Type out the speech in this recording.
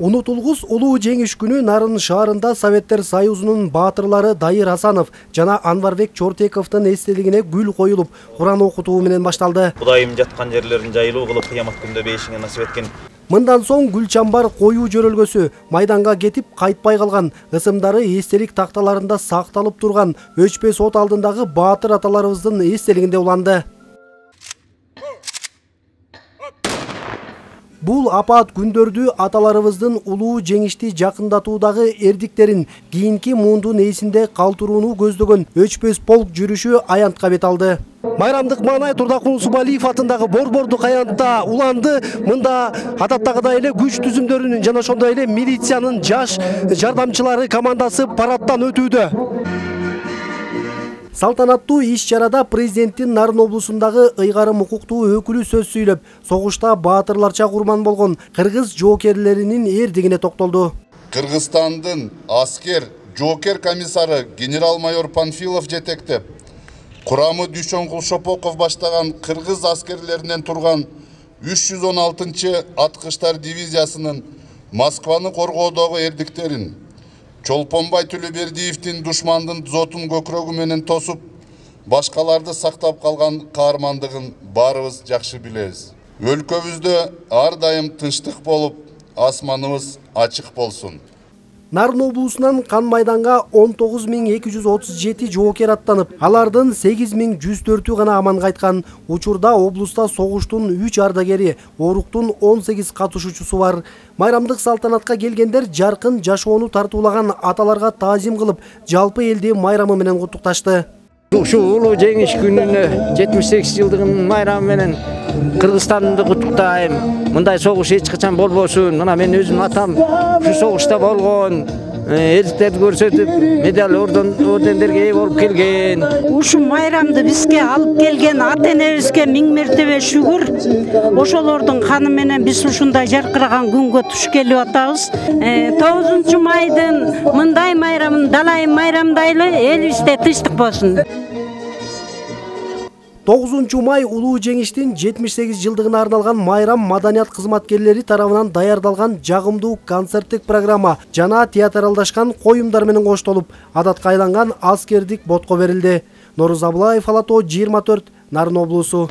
Унутулгус улуу жеңиш күнү Нарын шаарында Советтер Союзунун баатырлары Дайыр Асанов жана Анварбек Чортековдун эстелигине гүл коюлуп, Куран окутуу менен башталды. Кудайым жаткан жерлерин жайлуу кылып, кыямат күндө бейишиңе насип эткен. Мындан соң гүл чамбар коюу жөрөлгөсү майданга кетип кайтпай калган, ысымдары эстелик такталарында сакталып турган өчпөс от алдындагы баатыр аталарыбыздын эстелигинде уланды. Бул апаат күндөрдү аталарыбыздын улуу жеңишти жакындатуудагы эрдиктерин кийинки муундун эсинде калтырууну көздөгөн өчпөс полк жүрүшү аянтка бет алды. Майрамдык маанай Турдакул Субалиев атындагы Борбордук аянтта уланды. Мында адаттагыдай эле күч түзүмдөрүнүн жана ошондой эле милициянын жаш жардамчылары командасы парадтан өтүүдө. Салтанаттуу иш-чарада президенттин Нарын облусундагы ыйгарым укуктуу өкүлү сөз сүйлөп, согушта баатырларча курман болгон кыргыз жоокерлеринин эрдигине токтолду. Кыргызстандын аскер жоокер комиссары генерал-майор Панфилов жетектеп, курамы Дүйшөнкул Шопоков баштаган кыргыз аскерлеринен турган 316-чы аткычтар дивизиясынын Москваны коргоодогу эрдиктерин, Чолпонбай Төлөбердиевдин душмандын зотун көкрөгү менен тосуп, башкаларды сактап калган каармандыгын баарыбыз жакшы билебиз. Өлкөбүздө ар дайым тынчтык болуп, асманыбыз ачык болсун. Нарын облусунан кан майданга 19237 жоокер аттанып, алардын 8104-ü гана аман кайткан. Учурда облуста согуштун 3 ардагери, оруктун 18 катышуучусу бар. Майрамдык салтанатка келгендер жаркын жашоону тартуулаган аталарга таазим кылып, жалпы элди майрамы менен куттукташты. Ушу улуу жеңиш күнүнө 78 жылдыгынын майрамы менен Кыргызстанды куттуктайм. Мындай согуш эч качан болбосун. Мына мен өзүм атам ушу согушта болгон, эрдиктерди көрсөтүп, медаль ордендерге ээ болуп келген. Ушу майрамды бизге алып келген ата-энебизге миң мертебе шүгүр. Ошолордун каны менен биз ушундай жаркыраган күнгө туш келип атабыз. 9-майдын мындай майрамын далай майрамдайлы элибизде тынчтык болсун. 9-май улуу жеңиштин 78 жылдыгына арналган майрам маданият кызматкерлери тарабынан даярдалган жагымдуу концерттик программа жана театралдашкан коюмдар менен коштолуп, адатка айланган аскердик ботко берилди. Норuz Абылаев, Алато 24, Нарын облусу.